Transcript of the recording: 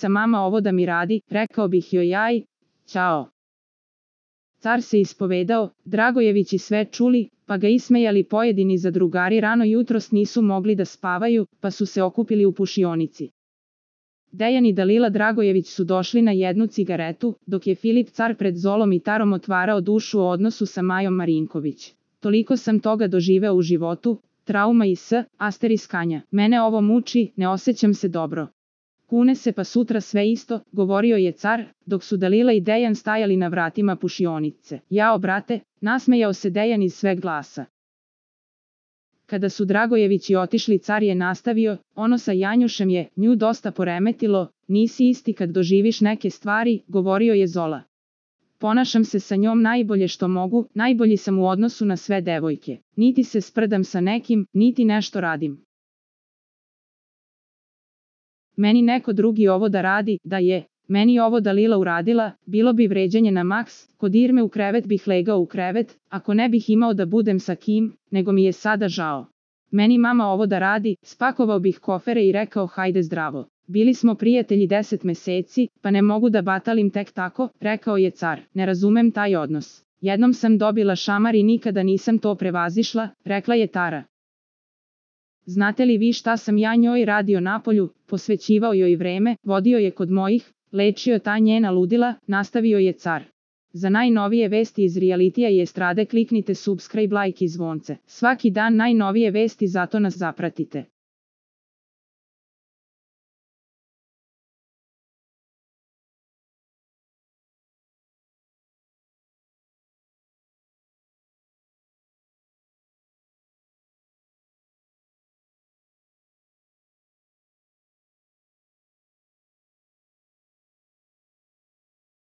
Filipica mama ovo da mi radi, rekao bih joj aj, ćao. Car se ispovedao, Dragojevići sve čuli, pa ga ismejali pojedini zadrugari rano jutros nisu mogli da spavaju, pa su se okupili u pušionici. Dejan i Dalila Dragojević su došli na jednu cigaretu, dok je Filip car pred Zolom i Tarom otvarao dušu o odnosu sa Majom Marinković. Toliko sam toga doživeo u životu, trauma i asteriskanja. Mene ovo muči, ne osjećam se dobro. Kune se pa sutra sve isto, govorio je car, dok su Dalila i Dejan stajali na vratima pušionice. Jao brate, nasmejao se Dejan iz sveg glasa. Kada su Dragojevići otišli, car je nastavio, ono sa Janjušem je nju dosta poremetilo, nisi isti kad doživiš neke stvari, govorio je Zola. Ponašam se sa njom najbolje što mogu, najbolji sam u odnosu na sve devojke. Niti se sprdam sa nekim, niti nešto radim. Meni neko drugi ovo da radi, da je meni ovo Dalila uradila, bilo bi vređanje na maks, kod Irme u krevet bih legao u krevet, ako ne bih imao da budem sa kim, nego mi je sada žao. Meni mama ovo da radi, spakovao bih kofere i rekao hajde zdravo. Bili smo prijatelji 10 meseci, pa ne mogu da batalim tek tako, rekao je car. Ne razumem taj odnos. Jednom sam dobila šamar i nikada nisam to prevazišla, rekla je Tara. Znate li vi šta sam ja njoj radio napolju, posvećivao joj vreme, vodio je kod mojih, lečio ta njena ludila, nastavio je car. Za najnovije vesti iz realitija i estrade kliknite subscribe, like i zvonce. Svaki dan najnovije vesti, zato nas zapratite.